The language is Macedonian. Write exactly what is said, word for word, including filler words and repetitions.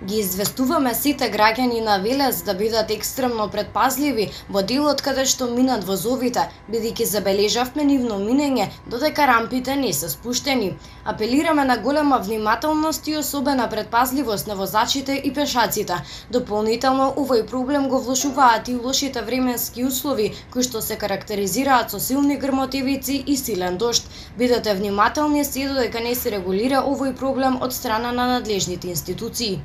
Ги известуваме сите граѓани на Велес да бидат екстремно предпазливи во делот каде што минат возовите, бидејќи забележавме нивно минење додека рампите не се спуштени. Апелираме на голема внимателност и особена предпазливост на возачите и пешаците. Дополнително, овој проблем го влошуваат и лошите временски услови, кои што се карактеризираат со силни грмотевици и силен дожд. Бидете внимателни се додека не се регулира овој проблем од страна на надлежните институции.